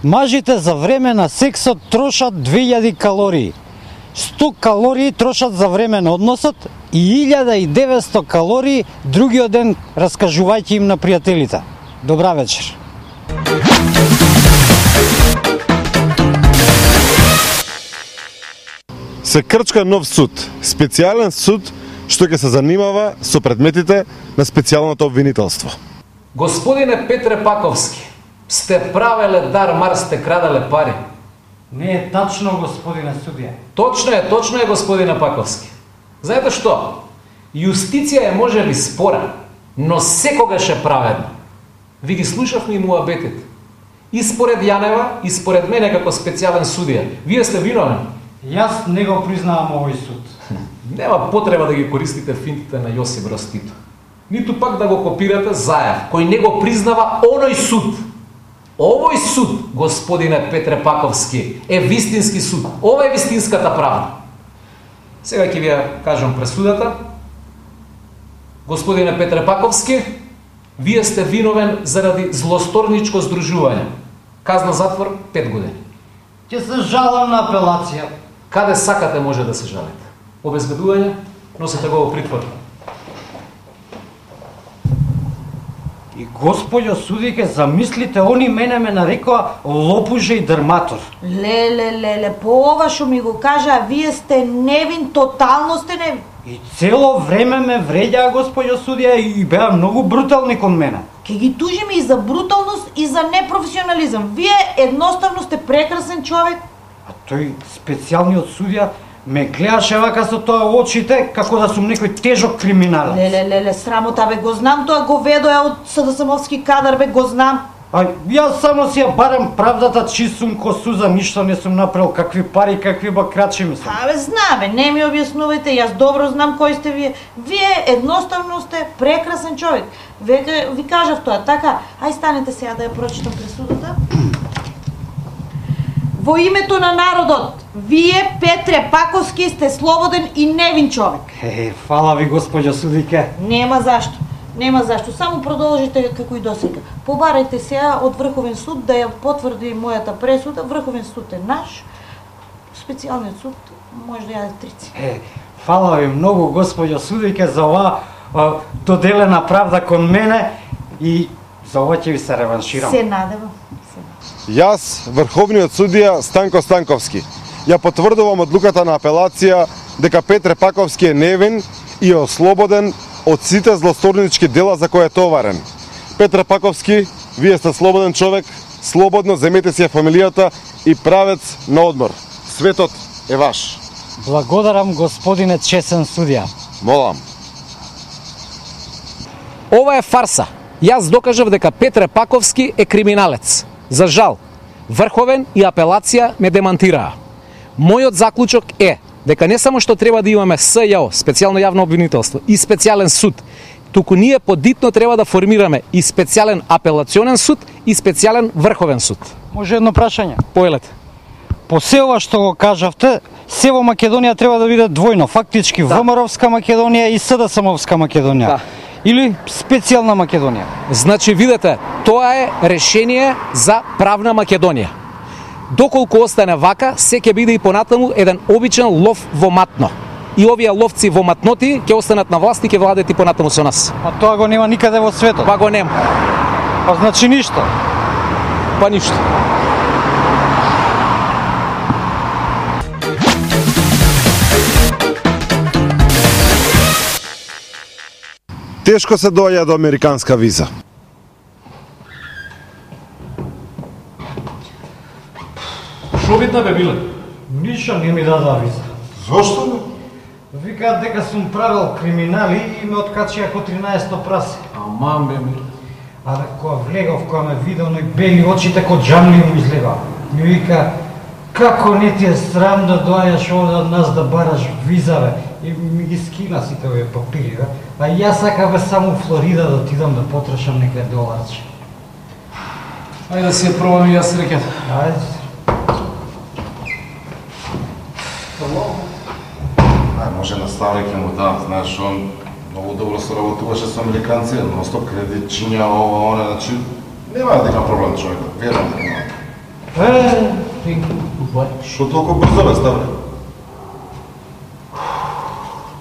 Мажите за време на сексот трошат 2000 калории. 100 калории трошат за време на односот и 1900 калории другиот ден раскажувајќи им на пријателите. Добра вечер. Се крчка нов суд, специјален суд што ќе се занимава со предметите на специјалното обвинителство. Господине Петре Паковски, сте правеле дар, мар сте крадале пари. Не е тачно, господине судија. Точно е, господине Паковски. Знаете што? Јустиција е можеби спора, но секогаш е праведна. Ви ги слушавме и муабетите. И според Јанева, и според мене како специјален судија. Вие сте виновен. Јас не го признавам овој суд. Нема потреба да ги користите финтите на Јосип Брз Тито. Ниту пак да го копирате Заев, кој не го признава оној суд. Овој суд, господине Петре Паковски, е вистински суд. Ова е вистинската правда. Сега ќе ви ја кажам пресудата. Господине Петре Паковски, вие сте виновен заради злосторничко здружување. Казна затвор 5 години. Ќе се жалам на апелација. Каде сакате може да се жалите. Обезбедување, носите го во притвор. И господјо судике, замислите, они мене ме нарекоа лопуже и дрматор. Леле, по ова што ми го кажа, вие сте невин, тотално сте невин. И цело време ме вреѓаа господјо судија и беа многу брутални кон мене. Ке ги тужиме и за бруталност и за непрофесионализам. Вие едноставно сте прекрасен човек. А тој специјалниот судија ме гледаше вака со тоа очите, како да сум некој тежок криминалец. Леле, срамота бе, го знам тоа говедо од СДСМовски кадар бе, го знам. А јас само си ја барам правдата, чист сум ко суза, ништо не сум направил, какви пари, какви бакрачи ми сум. Абе, знаме, не ми објаснувајте, јас добро знам кој сте вие. Вие едноставно сте прекрасен човек. Веќе ви кажав тоа, така, ај станете сега да ја прочитам пресудата. Во името на народот, вие, Петре Паковски, сте слободен и невин човек. Фала ви, господјо судике. Нема зашто, само продолжите како и досега. Побарајте сега од Врховен суд да ја потврди мојата пресуда. Врховен суд е наш, специјалниот суд може да јаде трици. Фала ви многу, господјо судике, за оваа доделена правда кон мене и за ова ќе ви се реванширам. Се надевам. Јас, врховниот судија Станко Станковски, ја потврдувам одлуката на апелација дека Петре Паковски е невин и е ослободен од сите злосторнички дела за кои е товарен. Петре Паковски, вие сте слободен човек, слободно земете си ја фамилијата и правец на одмор. Светот е ваш. Благодарам, господине чесен судија. Молам. Ова е фарса. Јас докажав дека Петре Паковски е криминалец. За жал, Врховен и апелација ме демантираа. Мојот заклучок е дека не само што треба да имаме СЈО, специјално јавно обвинителство, и специјален суд, туку ние подитно треба да формираме и специјален апелационен суд и специјален Врховен суд. Може едно прашање? Поелете. По се ова што го кажавте, се во Македонија треба да биде двојно, фактички ВМРО-вска Македонија и СДСМовска Македонија. Да. Или специјална Македонија. Значи, видете, тоа е решение за правна Македонија. Доколку остане вака, се ќе биде и понатаму еден обичен лов во матно. И овие ловци во матноти ќе останат на власт и ќе владеат и понатаму со нас. А тоа го нема никаде во светот. Па го нема. Па значи ништо. Па ништо. Тешко се доаѓа до американска виза. Шо видна бе биле? Ништо не ми дадоа виза. Зошто бе? Викаат дека сум правил криминали и ме откачија ко 13-то прасе. Аман бе ми. А да кога влегов, кога ме видел, но и бели очите ко джамли му излега. Ми вика, како не ти е срам да доаѓаш овде од нас да бараш виза, бе? И ми ги скина сите овие папири, бе. А јас сакав бе само в Флорида да отидам да потрошам некој доларче. Ајде да си ја пробам и јас рекет. Ајде. Може наставник ќе му дам, знаеш, он многу добро соработуваше со американци, но стоп кредитчиња, ова, она, значи, нема да има проблем човек, верувам дека нема. Thank you. Goodbye. Што толку брзо бе, ставле?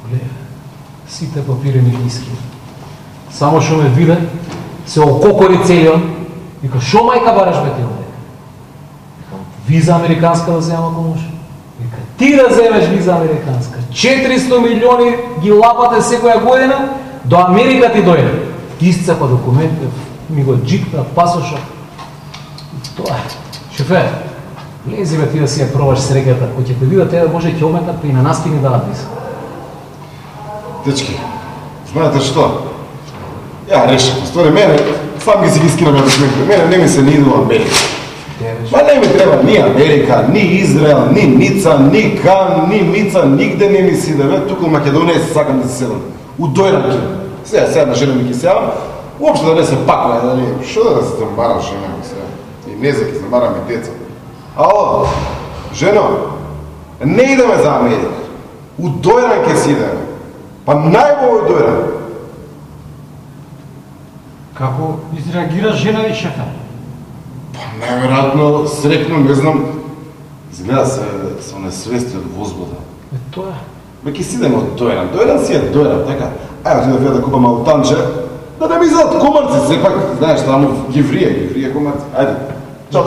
Гледа, сите папири ми ги искри. Само што ме виде, се ококори целиот. Вика, шо мајка бараш бе ти овде? Викам, виза американска да земам ако може. Вика, ти да земеш виза американска. 400 милиони ги лапате секоја година, до Америка ти дојде. Исцепа документи, ми го джикна, пасоша. Тоа е. Шефе, лези бе ти да си ја пробаш среќата. Кој ќе те видат, те да може ќе ометат, па и на нас ќе ни дадат виза. Дечки, знаете што? Ја решив, ствари мене, сам ги си ги скинам ја документи. Мене не ми се ни иду Америка. Ма не ми треба ни Америка, ни Израел, ни Ница, ни Кан, ни Мица, нигде не ми си да туку у Македонија се сакам да се седам. У дојранки. Сега на жена ми ги сеам, уопште да не се паква, да не, шо да се замарам жена ми сега? И не за ки замараме деца. Ало, жено, не идеме за Америка. У дојранке си идеме. Па најбој дојран. Како изреагира жена ви, шефе? Па најверојатно срекно, не знам, изгледа се несвести од возбуда. Тоа е. Бе, ки си идеме од дојран. Дојран си е дојран, така? Ајде ти да видя да купам аутанче, да не ми изадат комарци, сепак, знаеш, таму гиврија комарци. Ајде. Чао,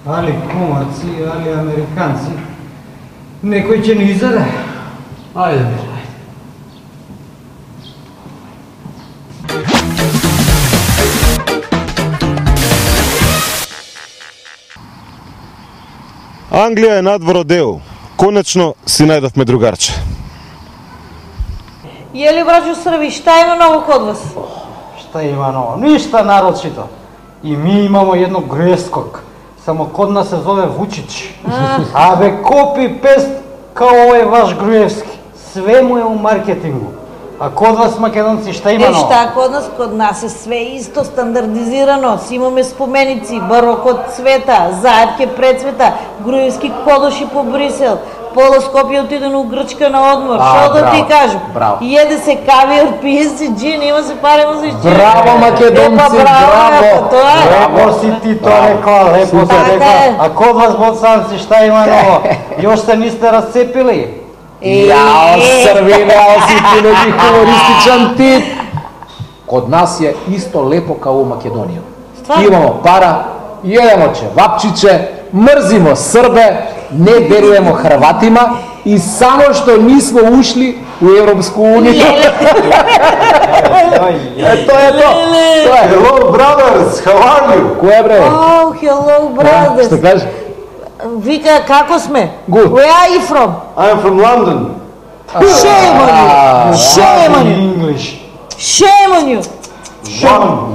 Али комарци, али американци, некој ќе ни изаде. Ајде, бе, ајде. Англија е надвор од ЕУ. Конечно си најдовме другарче. Јели, браќо Срби, шта има ново код вас? Шта има ново? Ништа нарочито. И ми имамо едно грескок. Само код нас се зове Вучич. Абе, копи-пест као овој ваш Груевски. Све му е у маркетингу. А код вас македонци шта има ново? Шта код нас е све исто стандардизирано. Си имаме споменици, барокот цвета, заедке прецвета, Груевски кодоши по Брисел. Пола Скопје отидено у Грчка на одмор. Што да ти кажам? Браво. Једе се кавиор, пие се джин, има се пари, има се ичи. Браво, македонци, браво! Тоа е. Лепо си ти тоа рекла, лепо си Така рекла. е. А код вас боцанци шта има ново? Још се нисте расцепили? Јао, Срвине, ао си ти неки хумористичан тип. Код нас е исто лепо као у Македонија. Стварно? Имамо пара, једемо чевапчиче, мрзимо Србе, не веруваме Хрватима и само што нисмо ушли у Европску унија. Тоа е то. Тоа е. Hello brothers, how are you? Кој е бре? Oh, hello, brothers. Што кажеш? Вика, како сме? Good. Where are you from? I'm from London. Shame on you. Shame on you. English. Shame on you.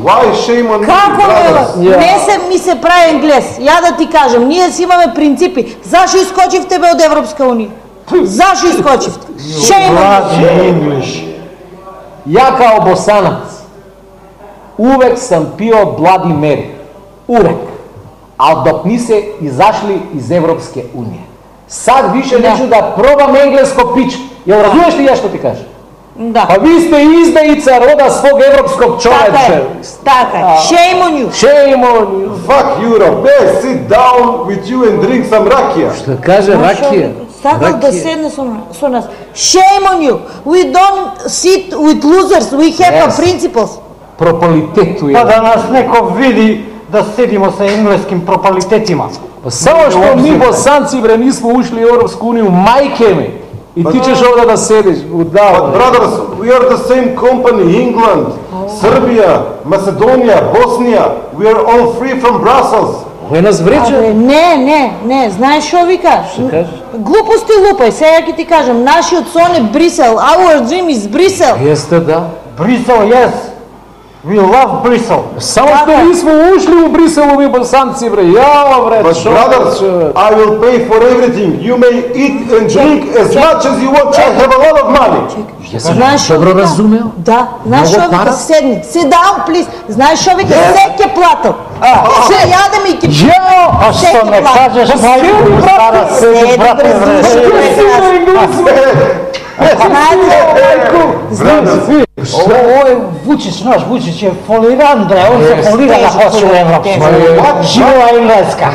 Why shame on me, Како brothers? ме? Не се ми се прави англес. Ја да ти кажам, ние си имаме принципи. Зашо искочивте бе од Европска унија? Зашо искочивте? Shame on you. Bloody English. Ја као босанац увек сам пио Блади Мери. Увек. А док ни се изашли из Европске унија. Сад више нечу да пробам енглеско пич. Ја разумеш ли ја што ти кажа? Да. Па ви сте издаица рода свог европскog Така е. човече. Така е. Shame on you. Shame on you. Fuck Europe, hey, sit down with you and drink some rakia. Што каже ракија? Сакал да седне со нас. Shame on you. We don't sit with losers. We have Yes. principles. Прополитету Па е. да нас некој види да седимо со енглеским пропалитетима. Па само што ми босанци бре нисмо ушли у Европску унија, мајке ми. И ти ćeš овде да седиш, But удава. brothers, we are the same company, England, Serbia, Macedonia, Bosnia. We are all free from Brussels. Кој нас врече? Абе, не, знаеш што вика? кажеш? Глупости лупај, сега ќе ти кажам, нашиот сон е Брисел, our dream is Брисел. Јесте да. Брисел, yes. We love Брисел. Само што нисмо ушли у Брисел овие босанци бре. Јао бре, But шо, brothers, човек? I will pay for everything. You may eat and drink as much as you want. I have a lot of money. Јас Знаеш што добро вика? разумео. Да, знаеш Многу што вика? пара? Седни, sit down, please. Знаеш што вика? Се ќе платам. Се јадем и ќе Јао! А што не кажеш, мајко, стара седи, брате, вре. Овој Вучич, наш Вучич е фолиран, бре, он се фолира да хоче у Европска. Жива Енглеска.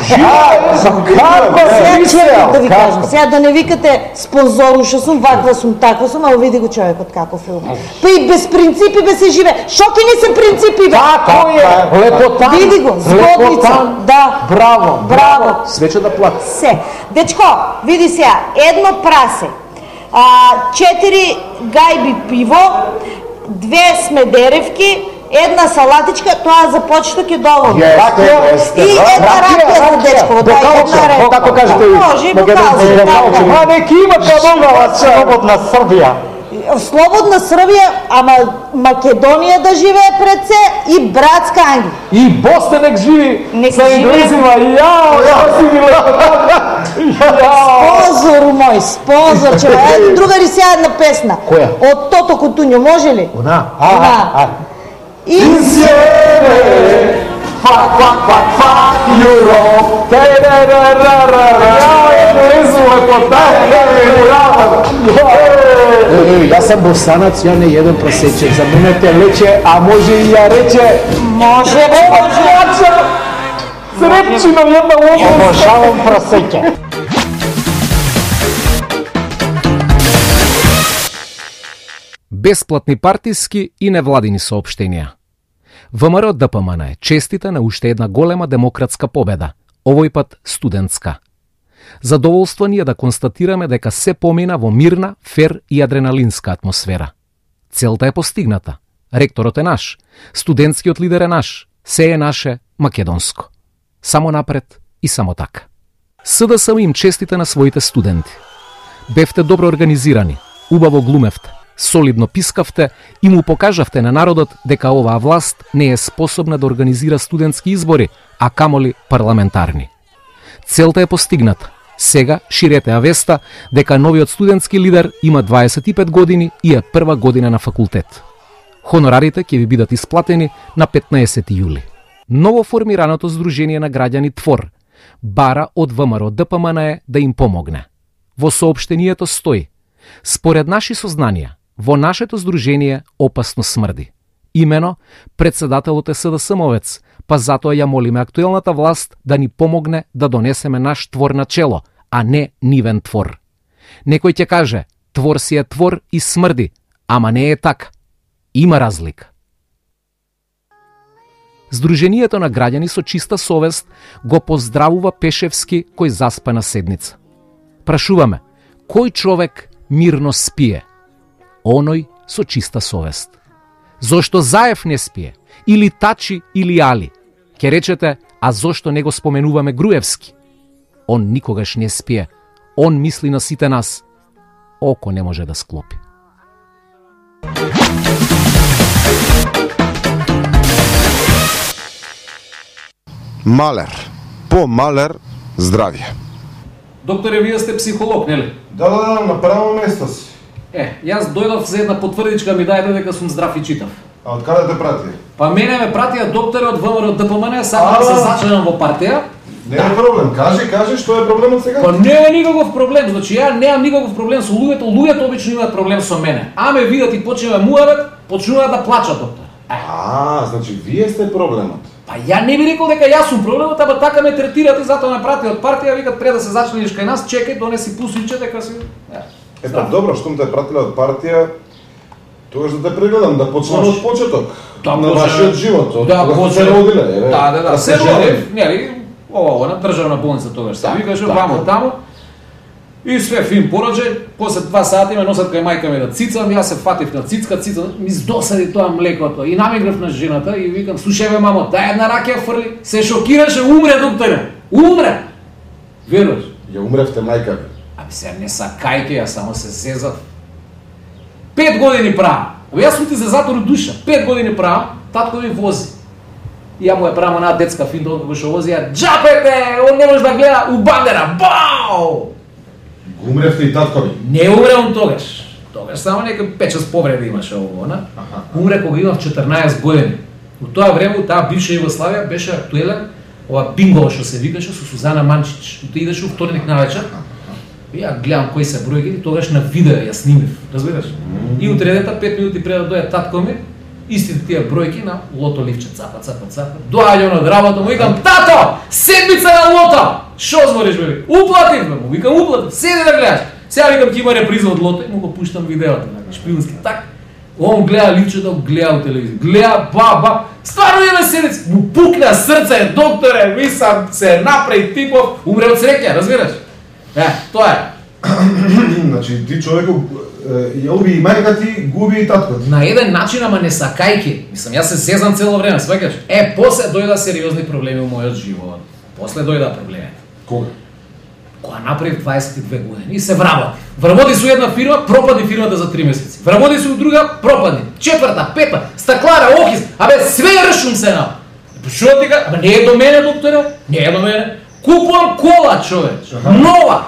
Како се да ви кажам, сега да не викате спонзоруша сум, ваква сум, таква сум, а види го човекот како филм. Па и без принципи бе се живе. Шо ки не се принципи бе? Тако е. Лепотан. Види го, згодница. Да. Браво. Браво. Свече да плати. Се. Дечко, види сега, едно прасе, 4 гајби пиво, 2 смедеревки, една салатичка, тоа за почеток е доволно. И една ракија за дечко, да, една ракија. Како кажете ви? Може, бокалче, така. Ма неки има камонала слободна Србија. Слободна Србија, ама Македонија да живее пред се и братска Англија. И Босна нек живи Нека со живее. енглезима. Јао, си ми Спонзор мој, спонзор, че е другари сега една песна. Која? Од Тото Кутуњо, може ли? Она. Она. Insieme, fuck, Europe, Јас сам босанац, ја не еден просече, за мене те лече, а може и ја рече. Може, може. Срепчино една лоба. Обожавам просеќе. Бесплатни партиски и невладини соопштенија. ВМРО ДПМН е честита на уште една голема демократска победа, овој пат студентска. Задоволство ни е да констатираме дека се помина во мирна, фер и адреналинска атмосфера. Целта е постигната. Ректорот е наш, студентскиот лидер е наш, се е наше македонско. Само напред и само така. СДСМ им честита на своите студенти. Бевте добро организирани, убаво глумевте, солидно пискавте и му покажавте на народот дека оваа власт не е способна да организира студентски избори, а камоли парламентарни. Целта е постигната. Сега ширете авеста дека новиот студентски лидер има 25 години и е прва година на факултет. Хонорарите ќе ви бидат исплатени на 15 јули. Ново формираното Сдружение на граѓани ТВОР бара од ВМРО ДПМН да им помогне. Во соопштението стои: според наши сознанија, во нашето здружение опасно смрди. Имено, председателот е СДСМовец, па затоа ја молиме актуелната власт да ни помогне да донесеме наш твор на чело, а не нивен твор. Некој ќе каже, твор си е твор и смрди, ама не е така. Има разлика. Сдруженијето на граѓани со чиста совест го поздравува Пешевски кој заспа на седница. Прашуваме, кој човек мирно спие? Оној со чиста совест. Зошто Заев не спие? Или Тачи, или Али? Ке речете, а зошто не го споменуваме Груевски? Он никогаш не спие. Он мисли на сите нас. Око не може да склопи. Малер. По Малер, здравје. Докторе, вие сте психолог, нели? Да, на право место си. Јас дојдов за една потврдичка ми дајде дека сум здрав и читав. А од каде те прати? Па мене ме пратија доктори од ВМРО ДПМН, сакам да се зачленам во партија. Не е проблем, кажи што е проблемот сега? Па не е никаков проблем, значи ја немам никаков проблем со луѓето, луѓето обично имаат проблем со мене. А ме видат и почнеме муавет, почнуваат да плачат, доктор. Значи вие сте проблемот. Па ја не би рекол дека јас сум проблемот, ама така ме третират и затоа ме прати од партија, викат пред да се зачлениш кај нас, чекај, донеси пусиче дека си. Па добро, штом те пратиле од партија, тогаш да те прегледам, да почнеме од почеток. На вашиот живот, да, кога се родиле. Да, се родив, нели, на државна болница тогаш се викаше, вамо таму. И све фин пороđај, после 2 сати ме носат кај мајка ми да цицам, јас се фатив на цицка, ми здосади тоа млекото и намиграв на жената и викам, слушај бе мамо, дај една ракија фрли, се шокираше, умре докторе, умре! Веруваш? Ја умревте мајка ви. Аби се не сакајке, јас само се зезав. 5 години правам. Јас сум ти за затор душа. 5 години правам, татко ми вози. И ја му ја правам една детска финта, како што вози, ја джапете, он не може да гледа у бандера. Бау! Умревте и татко ви? Не умре он тогаш. Тогаш само некој 5-6 повреди имаше ово, Умре кога имав 14 години. У тоа време, таа бивша Југославија беше актуелен ова бинго што се викаше со Сузана Манчич. Ти идеше у вторник навечер Ја гледам кои се бројки, тогаш на видео ја снимив, разбираш? И утредента 5 минути пред да дојде татко ми, истите тие бројки на лото ливче, цапа. Доаѓа од работа, му викам, тато, седмица на лото! Шо збориш, бе? Уплатив, бе, му викам, уплатив, седи да гледаш. Сега викам, ќе има реприза од лото и му го пуштам видеото, шпионски, так. Он гледа ливчето, гледа телевизија, гледа, стварно има седица, му пукна срце, докторе, мислам, се направи типов, умре од среќа, разбираш? Тоа е. Значи, ти човекот ја уби и мајка ти, губи и татко ти. На еден начин, ама не сакајки. Мислам, јас се сезам цело време, сваќаш? После дојда сериозни проблеми во мојот живот. После дојда проблемите. Кога? Кога направив 22 години и се вработи. Вработи со една фирма, пропади фирмата за 3 месеци. Вработи со друга, пропади. Четврта, пета, стаклара, охис, све ршум се на. Шо ти кажа? Не е до мене, докторе, не е до мене. Купувам кола, човеч, нова.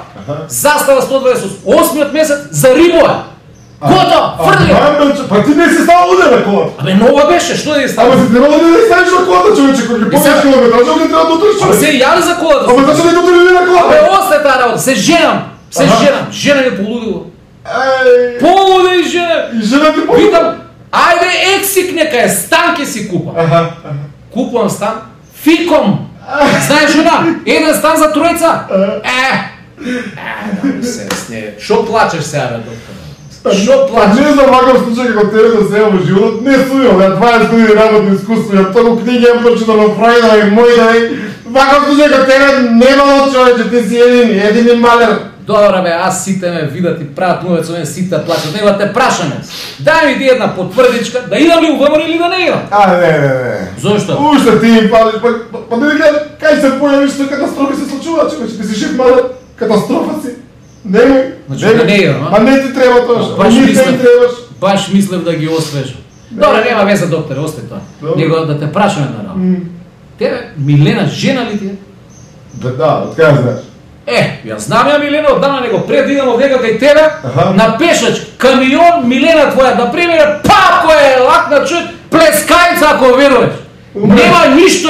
Застава 128 месец за рибоја. Гото, фрли! Па ти не си става уде на колата. Нова беше, што да ја става? Ама си требало да не ставиш на колата, човече, кога ги помниш километража, не треба да утреш човек. Се јави за колата. Ама зашто не го утрели на колата? Осте таа работа, се женам. Жена ми полудило. Полуде и жена. И жена ти полудило? Викам, ајде ексик нека е, стан ке си купам. Купувам стан, фиком. Знаеш жена, еден стан за тројца. Шо плачеш сега, бе, доктор? Шо плачеш? Не знам ваков случај како тебе да се во животот, не сујам, ја 20 години работно искуство, ја толку книги ја прочитал на Фрајда и мојда, ваков случај како тебе немало човече, ти си едини малер. Добра бе, аз сите ме видат и прават мујот со мен, сите плачат, нема те прашаме. Дај ми ти една потврдичка, да идам ли у ВМРО или да не идам? Не. Зошто? Уште ти им палиш, па не гледа, кај се појавиш, што катастрофи се случуваат, човече, ти си жив малер, катастрофа си. Немој. Значи да не идам, а? Не ти треба тоа, не ти требаш. Баш мислев да ги освежам. Добре, нема веза, докторе, остави тоа. Него да те прашаме на работа. Тебе, Милена, жена ли ти е? Да, од кај знаеш? Ја знам ја Милена, оддавна него пред да идам овдека кај тебе, на пешач, камион, Милена твоја, да примере, кој е лакна човек, плескајца ако веруваш. Нема ништо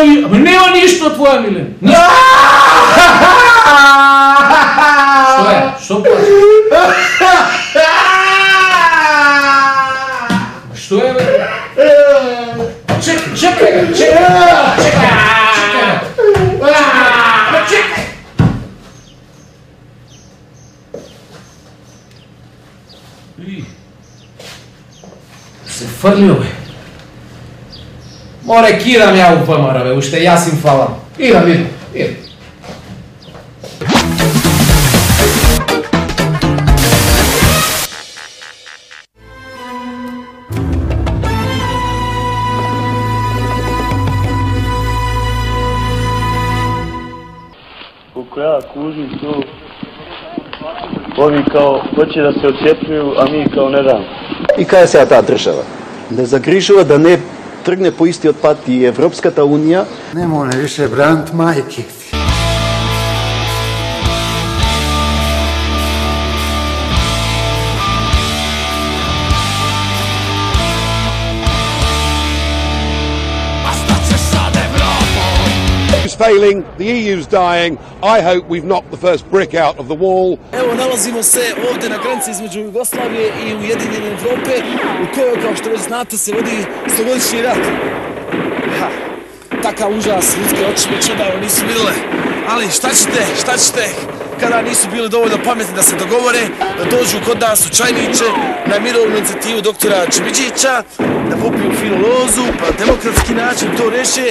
твоја Милена. Што е? Што плачеш? Што е, бе? Чекај! Се фрлио, бе. Море, кидам ја у ВМРО, бе, уште јас им фалам. Идам. Колко ја кужим ту, ови као хоќе да се отцепнуju, а ми као не дам. И кај е сега таа држава? Не загрижува да не тргне по истиот пат и Европската Унија. Не моле више бранд мајки. Failing, the EU's dying. I hope we've knocked the first brick out of the wall. Evo, nalazimo se ovde na granici između Jugoslavije i Ujedinjene Evrope, u kojoj, kao što već znate, se vodi 100-godišnji rat. Takav užas, ljudske oči već odavno nisu videle. Ali šta ćete, kada nisu bili dovoljno pametni da se dogovore, da dođu kod nas u Čajniće na mirovnu inicijativu doktora Čimiđića, da popiju finu lozu, pa demokratski način to reše.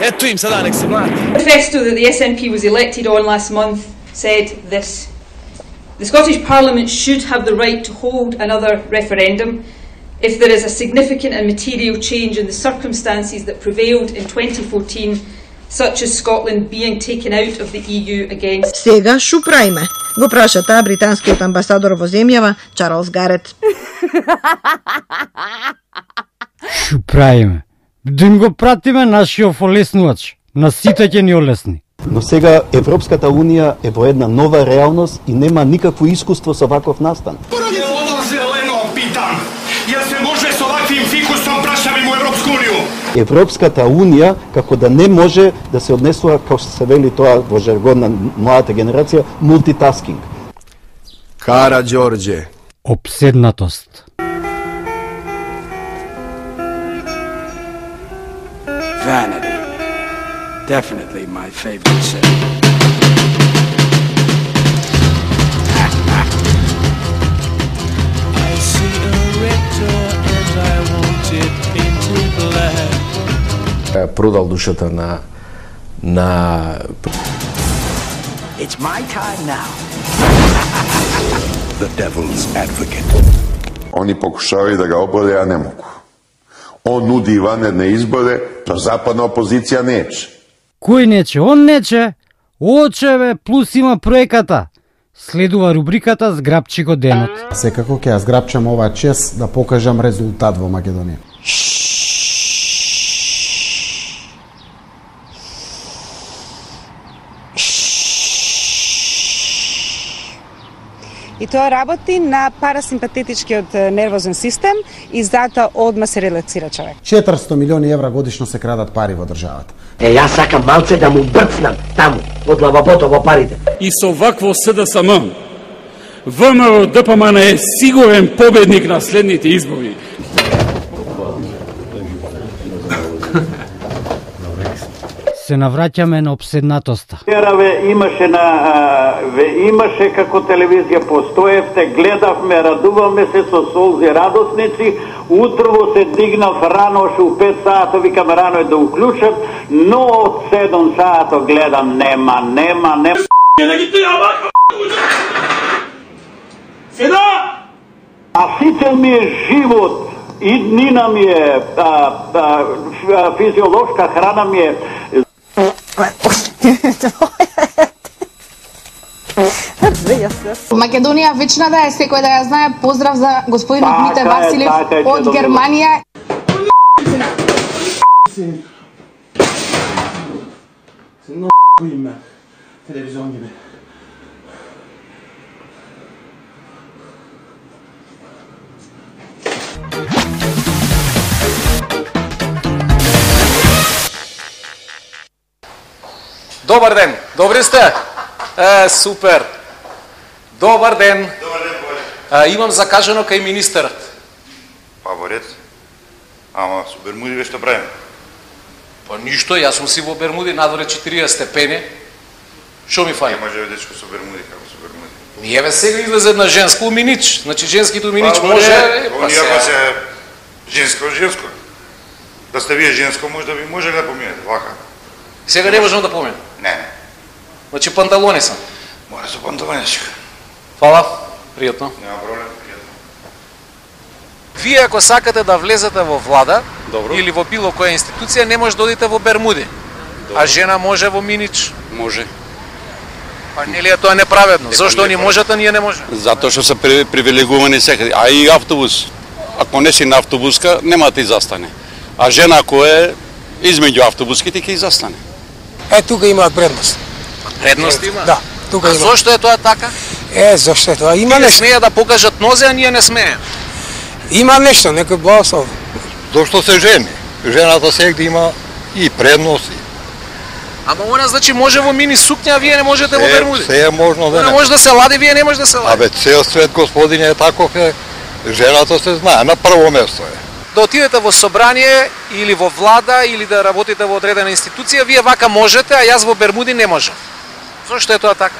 Eto im sada, nek se mlati. The manifesto that the SNP was elected on last month said this: the Scottish Parliament should have the right to hold another referendum if there is a significant and material change in the circumstances that prevailed in 2014, such as Scotland being taken out of the EU against. Сега шо правиме? Го праша таа британскиот амбасадор во земјава, Чарлс Гарет. Шо правиме? Да им го пратиме нашиот олеснувач, на сите ќе ни олесни. Но сега Европската Унија е во една нова реалност и нема никакво искуство со ваков настан. Ова зелено питам. Јас се може со ваквим фикусом прашавим у Европску Унију. Европската Унија како да не може да се однесува, како што се вели тоа во жаргон на младата генерација, мултитаскинг. Караѓорđe. Опседнатост. Vanity. Definitely my favorite sin. I see a red door and I want it painted black. Продал душата на It's my time now. The devil's advocate. Они покушавају да го ободе, а не могу. Он нуди ванредне изборе, то западна опозиција нече. Кој нече? Он нече? Очеве, плюс има проеката. Следува рубриката Зграбчико денот. Секако ќе ја зграбчам оваа чест да покажам резултат во Македонија. И тоа работи на парасимпатетичкиот нервозен систем и затоа одма се релаксира човек. 400 милиони евра годишно се крадат пари во државата. Јас сакам малце да му брцнам таму, од лавабото во парите. И со вакво СДСМ, ВМРО ДПМН е сигурен победник на следните избори. Се навраќаме на опседнатоста. Имаше како телевизија постоевте, гледавме, радуваме се со солзи радосници, утрово се дигнав рано, у 5 сата, викам рано е да уклучат, но од 7 сата гледам, нема. А сите ми е живот, и днина ми е, физиолошка храна ми е. Македонија вечна да е, секој да ја знае. Поздрав за господинот Мите Василев од Германија. Добар ден, добри сте? Супер. Добар ден. Имам закажано кај министерот. Па во ред. Ама со Бермуди ве што правиме? Па ништо, јас сум си во Бермуди, надвор е 40 степени. Шо ми фали? Не може дечко со Бермуди, како со Бермуди. Ние ве сега излезе на женско уминич. Значи женските уминич може... Па се женско. Да сте вие женско, може да ви може да поминете, вака. Сега не можам да поминам. Не. Значи панталони сам. Мора со панталоничка. Фала, пријатно. Нема проблем, пријатно. Вие ако сакате да влезете во влада, добро, или во било која институција, не може да одите во Бермуди. Добро. А жена може во минич? Може. Па нели е тоа неправедно? Зошто они можат, а ние не може? Затоа што се привилегувани секаде. А и автобус, ако не си на автобуска, нема да ти застане. А жена ако е измеѓу автобуските, ќе застане. Тука имаат предност. Предност има? Да, тука има. А зошто е тоа така? Зошто е тоа? Има нешто. нешто. Смеја да покажат нозе, а ние не смеем. Има нешто, некој благослов. Зошто се жени? Жената сегде има и предности. Ама она значи може во мини сукња, а вие не можете во Бермуди. Се е можно да не. Може да се лади, вие не може да се лади. Абе, цел свет, господине, е таков е. Жената се знае, на прво место е. Да отидете во собрание или во влада или да работите во одредена институција, вие вака можете, а јас во Бермуди не можам. Зошто е тоа така?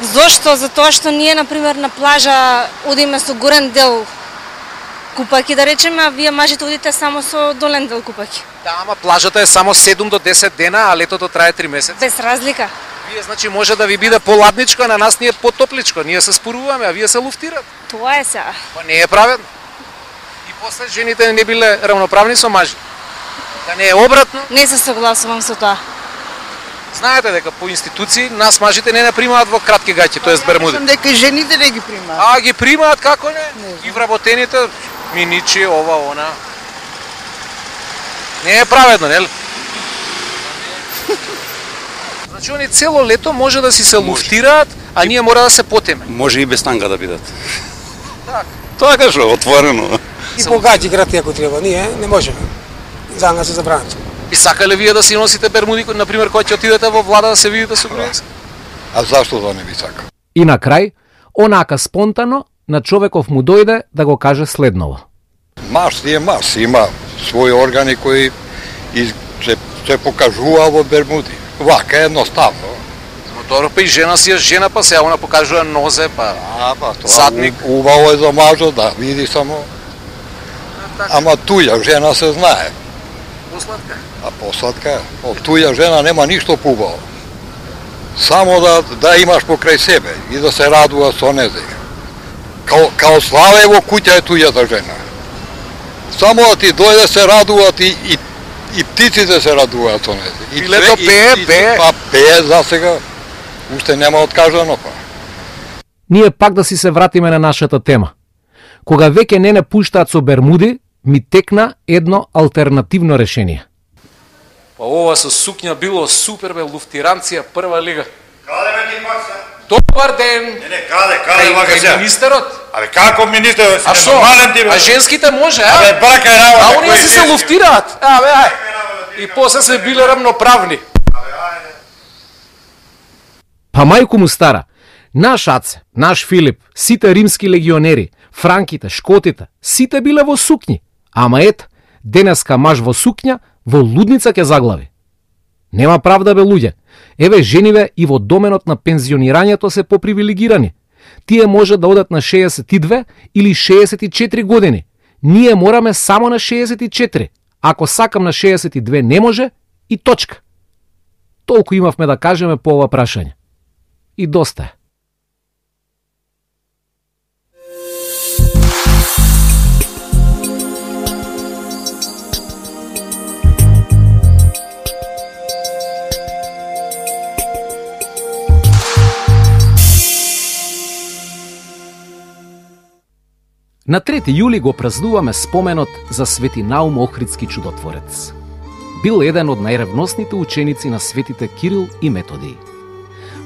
Зошто? Затоа што ние, например, на плажа одиме со горен дел купаки, да речеме, а вие мажите одите само со долен дел купаки. Да, ама плажата е само 7 до 10 дена, а летото трае 3 месеци. Без разлика. Вие, значи, може да ви биде поладничко, а на нас ни е потопличко. Ние се споруваме, а вие се луфтират. Тоа е сега. Па не е праведно. И после жените не биле равноправни со мажи. Да не е обратно. Не се согласувам со тоа. Знаете дека по институции нас мажите не примаат во кратки гаќи, тоест бермуди. Мислам дека жените не ги примаат. А ги примаат, како не? И вработените миничи, ова, она. Не е праведно, нели? Значи они цело лето може да си се луфтираат, а ние мора да се потеме. Може и без танга да бидат. Так. Тоа кажа отворено. И погаѓи грати ако треба, ние не можеме. За нас се забранено. И сакале вие да си носите бермуди, например, кога ќе отидете во влада да се видите со Груевски? А зашто да не би сакал? И на крај, Онака спонтано на човеков му дојде да го каже следново. Марс е Марс, има своји органи кои се покажува во Бермуди. Вака едноставно. Добро, па и жена си е жена, па сега она покажува нозе, па задник. Убаво е за мажот, да види само. Ама туја жена се знае. Посладка? А посладка е. Од туја жена нема ништо поубаво. Само да имаш покрај себе и да се радува со незе. Као славе во куќа е тујата жена. Само да ти дојде се радуваат и птиците се радуваат со незе. Пилето пее. Па пее за сега. Уште нема откажано па. Ние пак да си се вратиме на нашата тема. Кога веќе не пуштаат со Бермуди, ми текна едно алтернативно решение. Па ова со сукња било супер, бе, луфтиранција, прва лига. Каде ме ти пак се? Добар ден! Не, каде вака се? Министерот? Абе, како министерот? А шо? А женските може, а? Абе, брака е работа. А оние се луфтираат? Абе, ај. И после се биле рамноправни. Па мајку му стара, наш Аце, наш Филип, сите римски легионери, франките, шкотите, сите биле во сукњи. Ама ет, денеска маж во сукња, во лудница ќе заглави. Нема правда, бе, луѓе. Еве, жениве и во доменот на пензионирањето се попривилегирани. Тие може да одат на 62 или 64 години. Ние мораме само на 64. Ако сакам на 62 не може, и точка. Толку имавме да кажеме по ова прашање. И доста е. На 3 јули го празнуваме споменот за Свети Наум Охридски чудотворец. Бил еден од најревносните ученици на светите Кирил и Методий.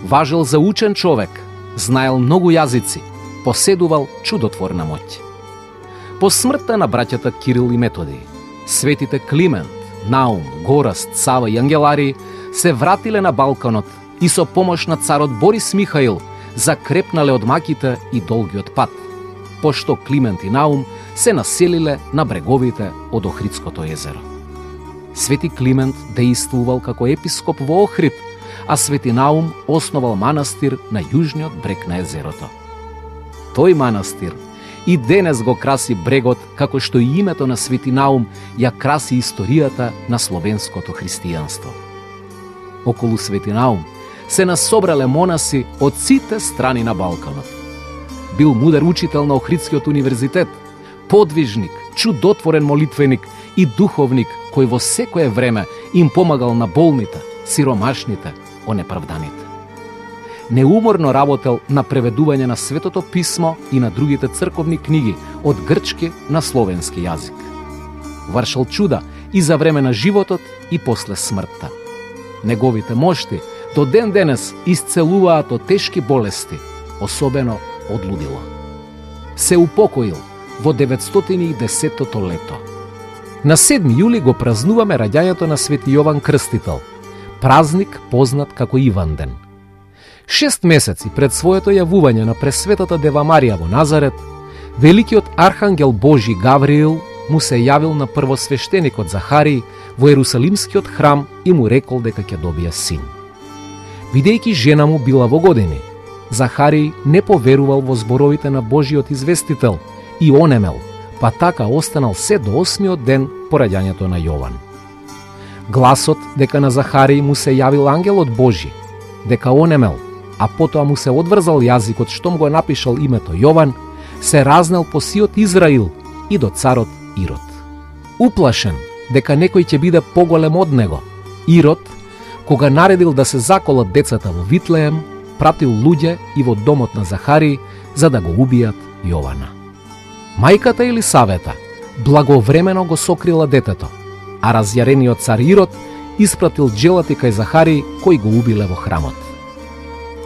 Важел за учен човек, знаел многу јазици, поседувал чудотворна моќ. По смртта на браќата Кирил и Методий, светите Климент, Наум, Гораст, Сава и Ангеларий се вратиле на Балканот и со помош на царот Борис Михаил закрепнале од маките и долгиот пат, пошто Климент и Наум се населиле на бреговите од Охридското езеро. Свети Климент дејствувал како епископ во Охрид, а Свети Наум основал манастир на јужниот брег на езерото. Тој манастир и денес го краси брегот, како што и името на Свети Наум ја краси историјата на словенското христијанство. Околу Свети Наум се насобрале монаси од сите страни на Балканот. Бил мудар учител на Охридскиот универзитет, подвижник, чудотворен молитвеник и духовник кој во секое време им помагал на болните, сиромашните, онеправданите. Неуморно работел на преведување на Светото писмо и на другите црковни книги од грчки на словенски јазик. Вршал чуда и за време на животот и после смртта. Неговите мошти до ден денес исцелуваат од тешки болести, особено од лудило. Се упокоил во 910-то лето. На 7 јули го празнуваме раѓањето на Свети Јован Крстител, празник познат како Иванден. 6 месеци пред своето јавување на Пресветата Дева Марија во Назарет, великиот архангел Божи Гавриил му се јавил на првосвештеникот Захарий во Ерусалимскиот храм и му рекол дека ќе добие син. Бидејќи жена му била во години, Захарий не поверувал во зборовите на Божиот известител и онемел, па така останал се до 8-миот ден по раѓањето на Јован. Гласот дека на Захарий му се јавил ангелот Божи, дека онемел, а потоа му се одврзал јазикот штом го напишал името Јован, се разнел по сиот Израил и до царот Ирод. Уплашен дека некој ќе биде поголем од него, Ирод, кога наредил да се заколат децата во Витлеем, пратил луѓе и во домот на Захарий за да го убијат Јована. Мајката Елисавета благовремено го сокрила детето, а разјарениот цар Ирод испратил джелати кај Захарий кој го убиле во храмот.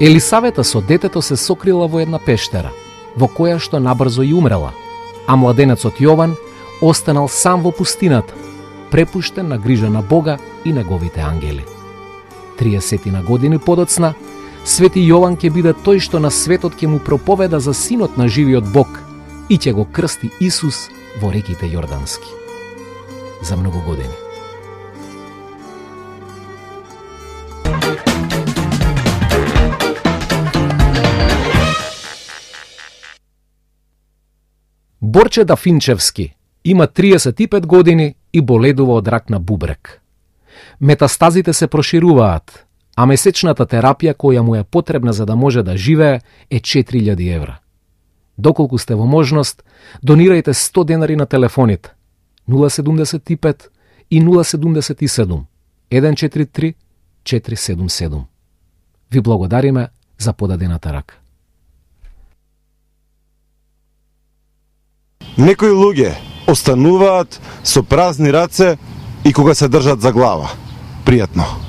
Елисавета со детето се сокрила во една пештера, во која што набрзо и умрела, а младенецот Јован останал сам во пустината, препуштен на грижа на Бога и неговите ангели. 30 години подоцна, Свети Јован ќе биде тој што на светот ќе му проповеда за синот на живиот Бог и ќе го крсти Исус во реките Јордански. За многу години. Борче Дафинчевски има 35 години и боледува од рак на бубрек. Метастазите се прошируваат, а месечната терапија која му е потребна за да може да живее е 4000 евра. Доколку сте во можност, донирајте 100 денари на телефоните 075 и 077 143 477. Ви благодариме за подадената рака. Некои луѓе остануваат со празни раце и кога се држат за глава. Пријатно.